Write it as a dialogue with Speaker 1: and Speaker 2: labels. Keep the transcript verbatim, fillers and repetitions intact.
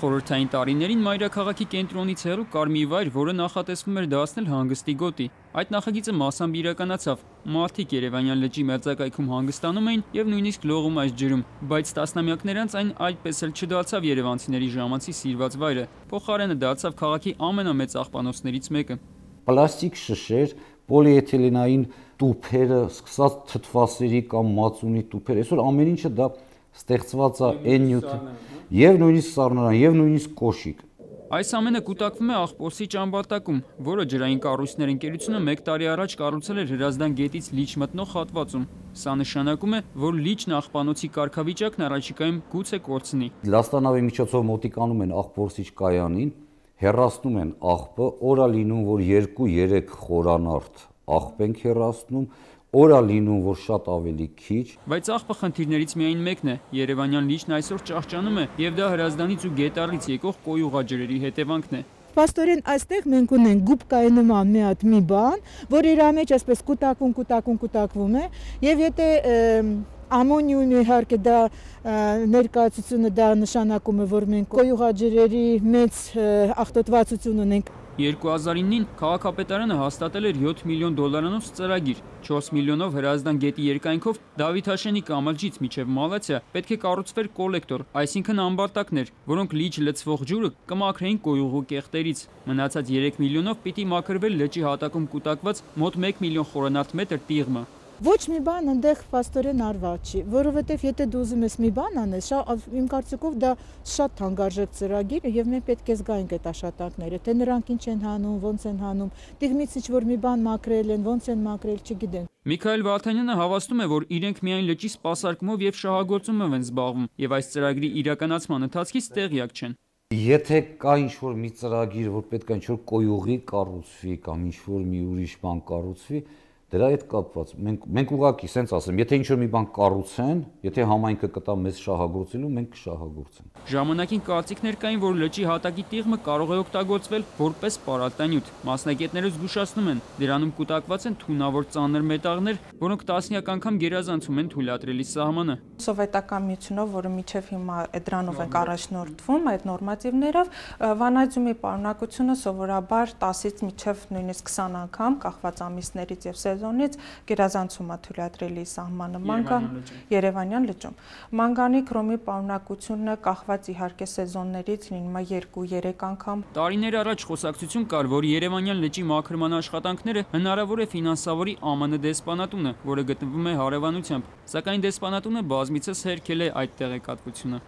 Speaker 1: Խորհրդային տարիներին մայրաքաղաքի կենտրոնից հեռու կար մի վայր, որը նախատեսվում էր դարձնել հանգստի գոտի։ Այդ նախագիծը մասամբ իրականացավ։ Մարդիկ Երևանյան լճի մերձակայքում հանգստանում էին եւ նույնիսկ լողում այս ջրում, բայց տասնամյակներ անց այն այդպես էլ չդարձավ երևանցիների ժամանցի սիրված վայրը։ Փոխարենը դարձավ քաղաքի ամենամեծ աղբանոցներից մեկը։
Speaker 2: Պլաստիկ շշեր, պոլիէթիլենային տուփերը, սկսած թթվասերի կամ մածունի տուփեր, այսօր ամեն ինչը դա ստեղծված է այն նյութը, եւ նույնիսկ սառնարան, եւ նույնիսկ կոշիկ։
Speaker 1: Այս ամենը կուտակվում է Աղբորսի ճամբարտակում, որը ջրային կառույցներ ընկերությունը մեկ տարի առաջ կառուցել էր Հրազդան գետից լիճ մտնող հատվածում։ Սա նշանակում է, որ լիճն աղբանոցի կարգավիճակն առաջիկայում գուցե կորցնի։
Speaker 2: Լաստանավի միջոցով մոտիկանում են Աղբորսիչ կայանին, հեռացնում են աղբը, օր է լինում, որ երկու-երեք խորանարդ աղբ ենք հեռացնում, օր է լինում, որ շատ ավելի քիչ։
Speaker 1: Բայց աղբը խնդիրներից միայն մեկն է։ Երևանյան լիճն այսօր ճահճանում է, եւ դա Հրազդանից ու Գետառից եկող կոյուղաջրերի հետևանքն է։
Speaker 3: Պաստորեն այստեղ մենք ունենք գուբկայի նման մի հատ մի բան, որ իր մեջ այսպես կուտակում, կուտակում, կուտակվում է, եւ եթե ամոնիում իհարկե դա ներկայացությունը դա նշանակում է, որ մենք կոյուղաջրերի մեծ աղտոտվածություն ունենք։
Speaker 1: երկու հազար իննին քաղաքապետարանը հաստատել էր յոթ միլիոն դոլարանոց ծրագիր, չորս միլիոնով Հրազդան գետի երկայնքով Դավիթաշենի կամրջից մինչև Մալացիա պետք է կառուցվեր կոլեկտոր, այսինքն ամբարտակներ, որոնք լիճ լցվող ջուրը կմաքրեին կոյուղու կեղտերից։ Մնացած երեք միլիոնով պիտի մաքրվեր լճի հատակում կուտակված մոտ մեկ միլիոն խորանարդ մետր տիղմը։
Speaker 3: Ոչ մի բան այնտեղ պաստորեն արված չի, որովհետև եթե դու ուզում ես մի բան անես, իմ կարծիքով դա շատ թանկարժեք ծրագիր է եւ մենք պետք է զգայինք այդ աշխատանքները, թե նրանք ինչ են հանում, ոնց են հանում, տիղմից ինչ որ մի բան մաքրել են, ոնց են մաքրել, չգիտեմ։
Speaker 1: Միքայել Վարդանյանը հավաստում է, որ իրենք միայն լճի սպասարկումով եւ շահագործումով են զբաղվում եւ այս ծրագրի իրականացման ընթացքից տեղյակ չեն։
Speaker 2: Եթե կա ինչ-որ մի ծրագիր, որ պետք է ինչ-որ կոյուղի կառուցվի կամ ինչ-որ մի ուրիշ բան կառուցվի, դրա հետ կապված մենք մենք ուղղակի սենց ասեմ, եթե ինչ-որ մի բան կառուցեն, եթե համայնքը կտա մեզ շահագործելու, մենք կշահագործենք։
Speaker 1: Ժամանակին կարծիքներ կային, որ լճի հատակի տիղմը կարող է օգտագործվել որպես պարարտանյութ։ Մասնագետները զգուշացնում են, դրանում կուտակված են թունավոր ծանր մետաղներ, որոնք տասնյակ անգամ գերազանցում են թույլատրելի սահմանը։
Speaker 4: Սովետական միությունով, որը միջև հիմա դրանով ենք առաջնորդվում, այդ նորմատիվներով, վանադիումի պարունակությունը սովորաբար տասից մինչև նույնիսկ քսան անգամ, կախված ամիսներից եւ սեզոնից գերազանցում է թույլատրելի սահմանը մանգան Երևանյան լճում։ Մանգանի քրոմի պարունակությունը կախված իհարկե սեզոններից լինում է երկու-երեք անգամ։
Speaker 1: Տարիներ առաջ խոսակցություն կար, որ Երևանյան լճի մաքրման աշխատանքները հնարավոր է ֆինանսավորի ԱՄՆ դեսպանատունը, որը գտնվում է հարևանությամբ, սակայն դեսպանատունը բազմիցս հերքել է այդ տեղեկատվությունը։